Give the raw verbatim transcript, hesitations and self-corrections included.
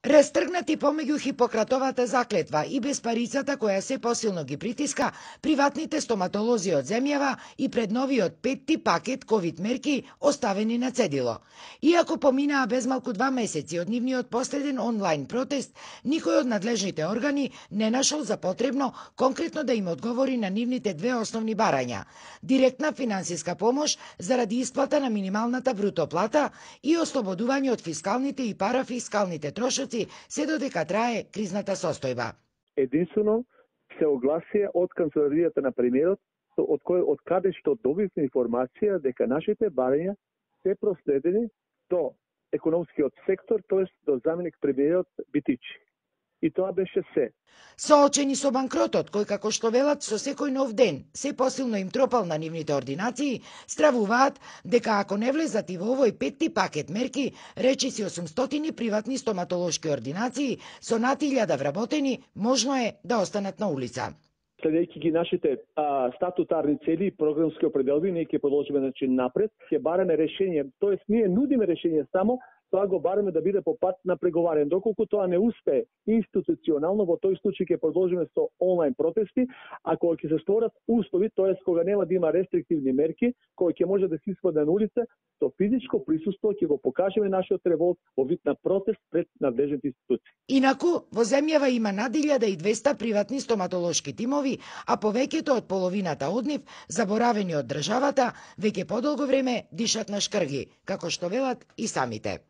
Растргнати помеѓу Хипократовата заклетва и безпарицата која се посилно ги притиска, приватните стоматолози од земјава и пред новиот петти пакет ковид мерки оставени на цедило. Иако поминаа безмалку два месеци од нивниот последен онлайн протест, никој од надлежните органи не нашол за потребно конкретно да им одговори на нивните две основни барања: директна финансиска помош заради исплата на минималната бруто плата и ослободување од фискалните и парафискалните трошоци се додека трае кризната состојба. Единствено се огласија од канцеларијата на премиерот, од кој од каде што добивме информација дека нашите барања се проследени до економскиот сектор, тоест до заменик премиерот Битичи. И тоа беше се. Соочени со банкротот, кој како што велат со секој нов ден се посилно им тропал на нивните ординации, стравуваат дека ако не влезат и во овој петти пакет мерки, речиси осумстотини приватни стоматолошки ординации со над илјада вработени, можно е да останат на улица. Следејќи ги нашите а, статутарни цели и програмски определби, ние ќе продолжиме начин напред, ќе бараме решение, тоест ние нудиме решение само, тоа го бараме да биде по пат на преговарање. Доколку тоа не успее институционално, во тој случај ќе продолжиме со онлайн протести, а кога ќе се створат услови, тоест кога нема да има рестриктивни мерки, кога ќе може да се испаде на улица, со физичко присуство ќе го покажеме нашиот револт во вид на протест пред надлежните институции. Инаку, во земјава има над илјада и двесте приватни стоматолошки тимови, а повеќето од половината од нив, заборавени од државата, веќе подолго време дишат на шкрги, како што велат и самите.